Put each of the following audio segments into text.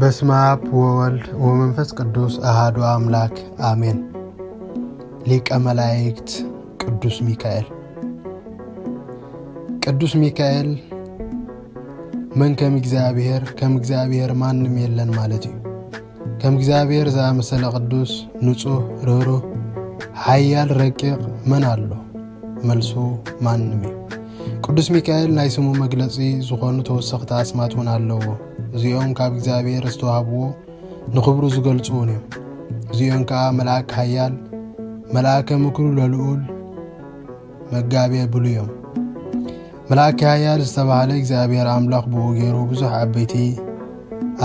በስመ አብ ወወልድ ወመንፈስ ቅዱስ አሃዱ አምላክ አሜን። ሊቀ መላእክት ቅዱስ ሚካኤል። ቅዱስ ሚካኤል መን ከም እግዚኣብሔር፣ ከም እግዚኣብሔር ማንም የለን ማለት እዩ። ከም እግዚኣብሔር ዝኣመሰለ ቅዱስ፣ ንጹህ፣ ርህሩህ፣ ሓያል፣ ረቂቕ መን ኣሎ? መልሱ ማንም እዩ። ቅዱስ ሚካኤል ናይ ስሙ መግለጺ ዝኾኑ ተወሰኽቲ ኣስማት እውን ኣለዎ። እዚኦም ካብ እግዚኣብሔር ዝተዋህብዎ ንኽብሩ ዝገልጹ እውን እዮም። እዚኦም ከኣ መልኣክ ሓያል፣ መልኣከ ምክሩ ለልዑል፣ መጋቤ ብሉይ እዮም። መልኣከ ሓያል ዝተባህለ እግዚኣብሔር ኣምላኽ ብኡ ገይሩ ብዙሕ ዓበይቲ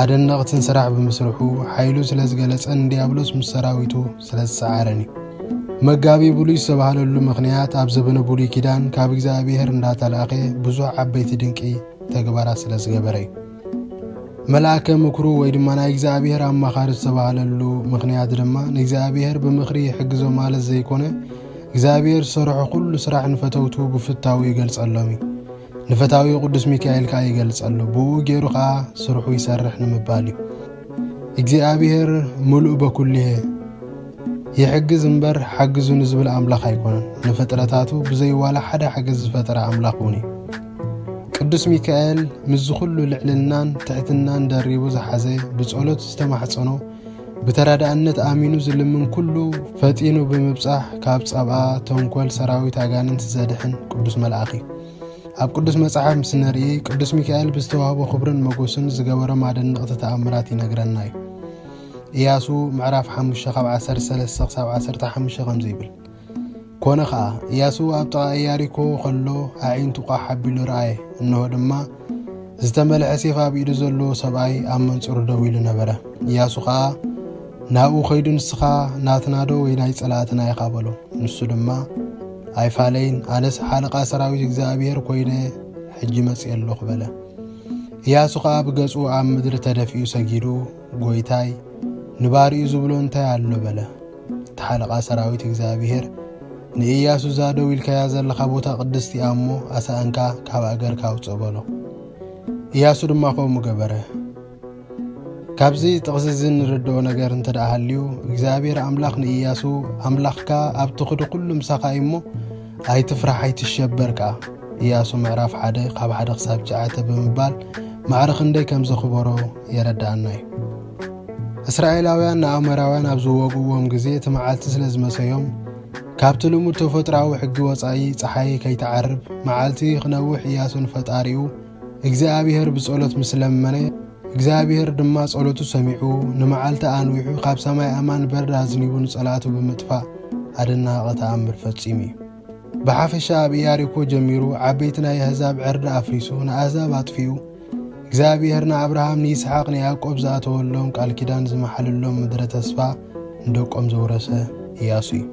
ኣደነቕትን ስራሕ ብምስርሑ ሓይሉ ስለ ዝገለጸን ንዲያብሎስ ምስ ሰራዊቱ ስለ ዝሰዓረን እዩ። መጋቤ ብሉይ ዝተባህለሉ ምኽንያት ኣብ ዘበነ ብሉይ ኪዳን ካብ እግዚኣብሔር እንዳተላእኸ ብዙሕ ዓበይቲ ድንቂ ተግባራት ስለ ዝገበረ እዩ። መልኣከ ምክሩ ወይ ድማ ናይ እግዚኣብሔር ኣማኻሪ ዝተባህለሉ ምኽንያት ድማ ንእግዚኣብሔር ብምኽሪ ይሕግዞ ማለት ዘይኮነ እግዚኣብሔር ዝሰርሖ ኩሉ ስራሕ ንፈተውቱ ብፍታው ይገልጸሎም እዩ። ንፈታዊ ቅዱስ ሚካኤል ከኣ ይገልጸሉ፣ ብኡ ገይሩ ከኣ ስርሑ ይሰርሕ ንምባል እዩ። እግዚኣብሔር ምሉእ በኩልሄ ይሕግዝ እምበር ሓግዙኒ ዝብል ኣምላኽ ኣይኮነን። ንፍጥረታቱ ብዘይ ዋላ ሓደ ሓገዝ ዝፈጠረ ኣምላኽ እውን እዩ። ቅዱስ ሚካኤል ምስዚ ኩሉ ልዕልናን ትሕትናን ደሪቡ ዝሓዘ ብጸሎት ዝተማሕጸኖ ብተረዳእነት ኣሚኑ ዝልምን ኩሉ ፈጢኑ ብምብጻሕ ካብ ጸብኣ ተንኮል ሰራዊት ኣጋንንት ዘድሕን ቅዱስ መልኣኽ እዩ። ኣብ ቅዱስ መጽሓፍ ምስ ንርኢ ቅዱስ ሚካኤል ብዝተዋህቦ ክብርን መጎስን ዝገበሮም ኣደንቕቲ ተኣምራት ይነግረና እዩ። ኢያሱ ምዕራፍ ሓሙሽተ ካብ ዓሰርተ ሰለስተ ክሳብ ዓሰርተ ሓሙሽተ ከምዚ ይብል። ኮነ ኸኣ፣ ኢያሱ ኣብ ጥቓ ኢያሪኮ ኸሎ ኣዒንቱ ቋሕ ኣቢሉ ረኣየ። እንሆ ድማ፣ ዝተመልሐ ሴፍ ኣብ ኢዱ ዘለዎ ሰብኣይ ኣብ መንጽሩ ደው ኢሉ ነበረ። ኢያሱ ኸኣ ናብኡ ኸይዱ፣ "ንስኻ ናትና ዶ ወይ ናይ ጸላእትና ኢኻ?" በሎ። ንሱ ድማ፣ "ኣይፋለይን፣ ኣነስ ሓለቓ ሰራዊት እግዚኣብሔር ኮይነ ሕጂ መጺኤ ኣለኹ" በለ። ኢያሱ ኸኣ ብገጹ ኣብ ምድሪ ተደፊኡ ሰጊዱ፣ "ጐይታይ፣ ንባሪኡ ዝብሎ እንታይ ኣሎ?" በለ። እቲ ሓለቓ ሰራዊት እግዚኣብሔር ንኢያሱ፣ "እዛ ደው ኢልካያ ዘለኻ ቦታ ቅድስቲ እያ እሞ፣ ኣሳእንካ ካብ ኣገርካ ኣውጽእ" በሎ። ኢያሱ ድማ ከምኡ ገበረ። ካብዚ ጥቕሲ እዚ እንርድኦ ነገር እንተ ደኣ ሃልዩ፣ እግዚኣብሔር ኣምላኽ ንኢያሱ፣ "ኣምላኽካ ኣብ ትኽዱ ኩሉ ምሳኻ እዩ እሞ፣ ኣይትፍራሕ፣ ኣይትሸበር" ከኣ። ኢያሱ ምዕራፍ ሓደ ካብ ሓደ ክሳብ ትሽዓተ ብምባል ማዕረ ክንደይ ከም ዘኽበሮ የረድኣና እዩ። እስራኤላውያን ንኣሞራውያን ኣብ ዝወግእዎም ግዜ እቲ መዓልቲ ስለ ዝመሰዮም፣ ካብቲ ልሙድ ተፈጥሮኣዊ ሕጊ ወጻኢ ጸሓይ ከይትዓርብ መዓልቲ ክነውሕ ኢያሱ ንፈጣሪኡ እግዚኣብሔር ብጸሎት ምስ ለመነ፣ እግዚኣብሔር ድማ ጸሎቱ ሰሚዑ፣ ንመዓልቲ ኣንዊሑ፣ ካብ ሰማይ ኣማን በረድ ኣዝኒቡ ንጸላእቱ ብምጥፋእ ኣደናቒ ተኣምር ፈጺሙ እዩ። ብሓፈሻ ኣብ ኢያሪኮ ጀሚሩ ዓበይቲ ናይ ኣህዛብ ዕርዲ ኣፍሪሱ፣ ንኣህዛብ ኣጥፊኡ፣ እግዚኣብሔር ንኣብርሃም፣ ንይስሓቅ፣ ንያዕቆብ ዝኣተወሎም ቃል ኪዳን ዝመሓለሎም ምድረ ተስፋ ንደቆም ዘውረሰ ኢያሱ እዩ።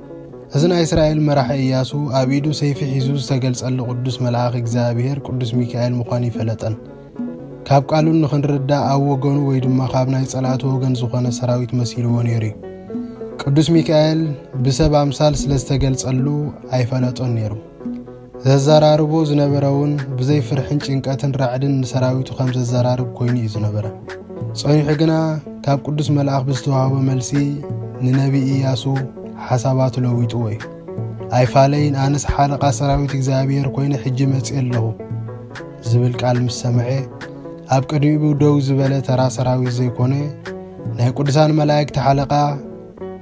እዚ ናይ እስራኤል መራሒ ኢያሱ ኣብ ኢዱ ሰይፊ ሒዙ ዝተገልጸሉ ቅዱስ መልኣኽ እግዚኣብሔር ቅዱስ ሚካኤል ምዃኑ ይፈለጠን። ካብ ቃሉ ንኽንርዳእ ኣብ ወገኑ ወይ ድማ ካብ ናይ ጸላእቱ ወገን ዝኾነ ሰራዊት መሲልዎ ነይሩ እዩ። ቅዱስ ሚካኤል ብሰብ ኣምሳል ስለ ዝተገልጸሉ ኣይፈለጦን ነይሩ። ዘዘራርቦ ዝነበረ እውን ብዘይ ፍርሕን ጭንቀትን ራዕድን ንሰራዊቱ ከም ዘዘራርብ ኮይኑ እዩ ዝነበረ። ጸኒሑ ግና ካብ ቅዱስ መልኣኽ ብዝተዋህቦ መልሲ ንነቢ ኢያሱ ሓሳባቱ ለዊጥዎ እዩ። "ኣይፋለይን፣ ኣነስ ሓለቓ ሰራዊት እግዚኣብሔር ኮይነ ሕጂ መጺኤ ኣለኹ" ዝብል ቃል ምስ ሰምዐ፣ ኣብ ቅድሚኡ ደው ዝበለ ተራ ሰራዊት ዘይኮነ፣ ናይ ቅዱሳን መላእክቲ ሓለቓ፣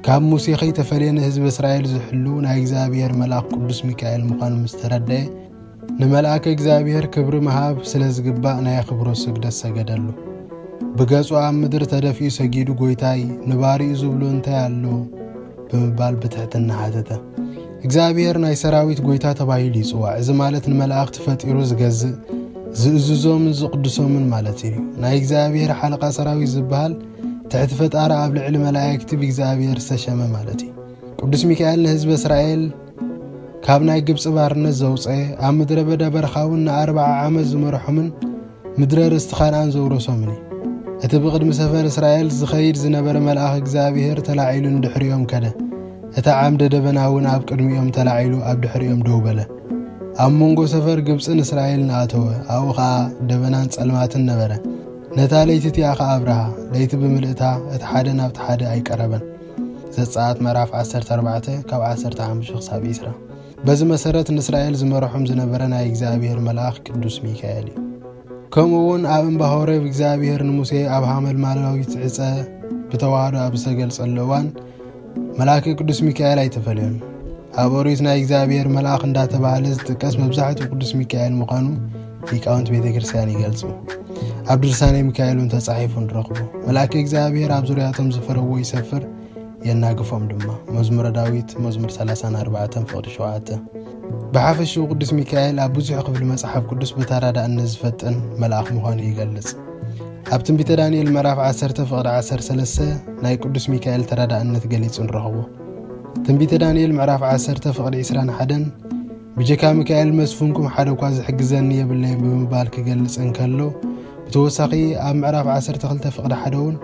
ካብ ሙሴ ከይተፈልየ ንህዝቢ እስራኤል ዝሕሉ ናይ እግዚኣብሔር መልኣኽ ቅዱስ ሚካኤል ምዃኑ ምስ ተረድአ፣ ንመልኣከ እግዚኣብሔር ክብሪ ምሃብ ስለ ዝግባእ ናይ ኣኽብሮት ስግደት ሰገደሉ። ብገጹ ኣብ ምድሪ ተደፊኡ ሰጊዱ፣ "ጐይታይ፣ ንባሪኡ ዝብሎ እንታይ ኣሎ?" ብምባል ብትሕትና ሓተተ። እግዚኣብሔር ናይ ሰራዊት ጐይታ ተባሂሉ ይጽዋዕ። እዚ ማለት ንመላእኽቲ ፈጢሩ ዝገዝእ፣ ዝእዝዞምን ዝቕድሶምን ማለት እዩ። ናይ እግዚኣብሔር ሓለቓ ሰራዊት ዝበሃል ትሕቲ ፈጣሪ ኣብ ልዕሊ መላእክቲ ብእግዚኣብሔር ዝተሸመ ማለት እዩ። ቅዱስ ሚካኤል ንህዝቢ እስራኤል ካብ ናይ ግብጺ ባርነት ዘውጸ፣ ኣብ ምድረ በዳ በረኻ እውን ንኣርብዓ ዓመት ዝመርሖምን ምድረ ርስቲ ካንኣን ዘውረሶምን እዩ። እቲ ብቕድሚ ሰፈር እስራኤል ዝኸይድ ዝነበረ መልኣኽ እግዚኣብሔር ተላዒሉ ንድሕሪኦም ከደ። እቲ ዓምደ ደበና እውን ኣብ ቅድሚኦም ተላዒሉ ኣብ ድሕሪኦም ደው በለ። ኣብ መንጎ ሰፈር ግብጽን እስራኤልን ኣተወ። ኣብኡ ኸኣ ደበናን ጸልማትን ነበረ። ነታ ለይቲ እቲኣ ኸኣ ኣብርሃ። ለይቲ ብምልእታ እቲ ሓደ ናብቲ ሓደ ኣይቀረበን። ዘጸኣት ምዕራፍ ዓሰርተ ኣርባዕተ ካብ ዓሰርተ ሓሙሽተ ክሳብ ዕስራ። በዚ መሰረት ንእስራኤል ዝመርሖም ዝነበረ ናይ እግዚኣብሔር መልኣኽ ቅዱስ ሚካኤል እዩ። ከምኡ እውን ኣብ እምባ ሆሬብ እግዚኣብሔር ንሙሴ ኣብ ሓመልማላዊት ዕጸ ብተዋህዶ ኣብ ዝተገልጸሉ እዋን መልኣከ ቅዱስ ሚካኤል ኣይተፈልዮን። ኣብ ኦሪት ናይ እግዚኣብሔር መልኣኽ እንዳተባህለ ዝጥቀስ መብዛሕትኡ ቅዱስ ሚካኤል ምዃኑ ሊቃውንት ቤተ ክርስቲያን ይገልጹ። ኣብ ድርሳነ ሚካኤል እውን ተጻሒፉ ንረኽቦ። መልኣከ እግዚኣብሔር ኣብ ዙርያቶም ዝፈረዎ ይሰፍር፣ የናግፎም ድማ። መዝሙረ ዳዊት መዝሙር ሰላሳን ኣርባዕተን ፍቕዲ ሸውዓተ። ብሓፈሽኡ ቅዱስ ሚካኤል ኣብ ብዙሕ ክፍሊ መጽሓፍ ቅዱስ ብተራዳእነት ዝፈጥን መልኣኽ ምዃኑ ይገልጽ። ኣብ ትንቢተ ዳንኤል ምዕራፍ ዓሰርተ ፍቕዲ ዓሰርተ ሰለስተ ናይ ቅዱስ ሚካኤል ተራዳእነት ገሊጹ ንረኽቦ። ትንቢተ ዳንኤል ምዕራፍ ዓሰርተ ፍቕዲ ዕስራን ሓደን ብጀካ ሚካኤል መስፍንኩም ሓደ እኳ ዝሕግዘኒ የብለይን ብምባል ክገልጽ እንከሎ፣ ብተወሳኺ ኣብ ምዕራፍ ዓሰርተ ክልተ ፍቕዲ ሓደ እውን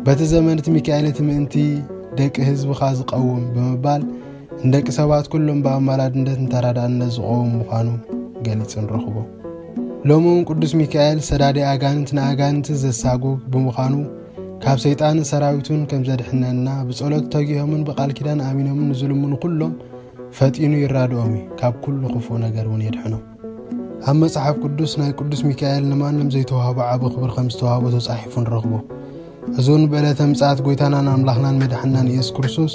በቲ ዘመን እቲ ሚካኤል እቲ ምእንቲ ደቂ ህዝብኻ ዝቐውም ብምባል ንደቂ ሰባት ኩሎም ብኣማላድነት ንተራዳእነት ዝቐውም ምዃኑ ገሊጹ ንረኽቦ። ሎሚ እውን ቅዱስ ሚካኤል ሰዳዲ ኣጋንንት ንኣጋንንት ዘሳጉግ ብምዃኑ ካብ ሰይጣንን ሰራዊቱን ከም ዘድሕነና ብጸሎት ተጊሆምን ብቃል ኪዳን ኣሚኖምን ንዝልምኑ ኩሎም ፈጢኑ ይራድኦም እዩ፣ ካብ ኩሉ ክፉእ ነገር እውን የድሕኖም። ኣብ መጽሓፍ ቅዱስ ናይ ቅዱስ ሚካኤል ንማንም ዘይተዋህቦ ዓቢ ክብሪ ከም ዝተዋህቦ ተጻሒፉ ንረኽቦ። እዚ እውን ብዕለተ ምጽኣት ጎይታናን ኣምላኽናን መድሓንናን ኢየሱስ ክርስቶስ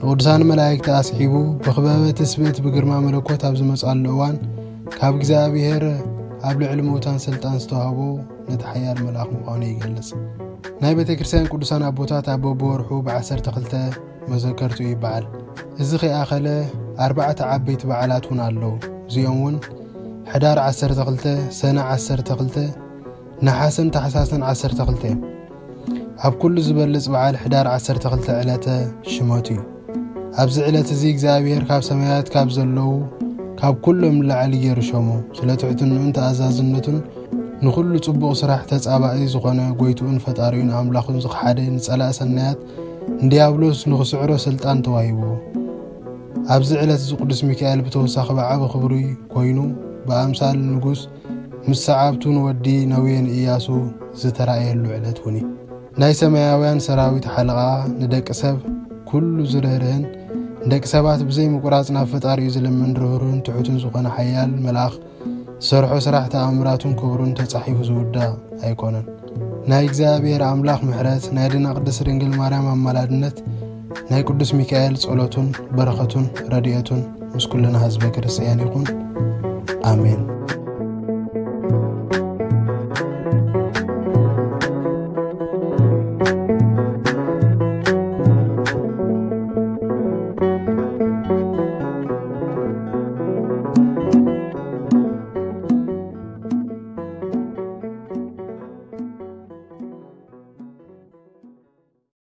ንቅዱሳን መላእክቲ ኣስዒቡ ብኽበበ ትስብእት ብግርማ መለኮት ኣብ ዝመጽኣሉ እዋን ካብ እግዚኣብሔር ኣብ ልዕሊ ምዉታን ስልጣን ዝተዋህቦ ነቲ ሓያል መልኣኽ ምዃኑ ይገልጽ። ናይ ቤተ ክርስቲያን ቅዱሳን ኣቦታት ኣብ በብወርሑ ብዓሰርተ ክልተ መዘከርቱ ይበዓል። እዚ ከይኣኸለ ኣርባዕተ ዓበይቲ በዓላት እውን ኣለዉ። እዚኦም እውን ሕዳር ዓሰርተ ክልተ፣ ሰነ ዓሰርተ ክልተ፣ ነሓሰን ታሕሳስን ዓሰርተ ክልተ እዮም። ኣብ ኩሉ ዝበልጽ በዓል ሕዳር ዓሰርተ ክልተ ዕለተ ሽመቱ እዩ። ኣብዚ ዕለት እዚ እግዚኣብሔር ካብ ሰማያት ካብ ዘለዉ ካብ ኩሎም ንላዕሊ ገይሩ ሸሞ። ስለ ትሕትንኡን ተኣዛዝነቱን ንኹሉ ጽቡቕ ስራሕ ተጻባኢ ዝኾነ ጎይትኡን ፈጣሪኡን ኣምላኹን ዝኸሓደ ንጸላእ ሰናያት ንዲያብሎስ ንኽስዕሮ ስልጣን ተዋሂብዎ። ኣብዚ ዕለት እዚ ቅዱስ ሚካኤል ብተወሳኺ ብዓቢ ክብሪ ኮይኑ ብኣምሳል ንጉስ ምስ ሰዓብቱ ንወዲ ነዌ ንኢያሱ ዝተራእየሉ ዕለት እውን እዩ። ናይ ሰማያውያን ሰራዊት ሓለቓ ንደቂ ሰብ ኩሉ ዝርህርህን ንደቂ ሰባት ብዘይ ምቁራጽ ናብ ፈጣሪኡ ዝልምን ርህሩህን ትሑትን ዝኾነ ሓያል መልኣኽ ዝሰርሖ ስራሕ ተኣምራቱን ክብሩን ተጻሒፉ ዝውዳእ ኣይኮነን። ናይ እግዚኣብሔር ኣምላኽ ምሕረት፣ ናይ ኣዴና ቅድስት ድንግል ማርያም ኣማላድነት፣ ናይ ቅዱስ ሚካኤል ጸሎቱን በረኸቱን ረድኤቱን ምስ ኩልና ህዝበ ክርስቲያን ይኹን። ኣሜን።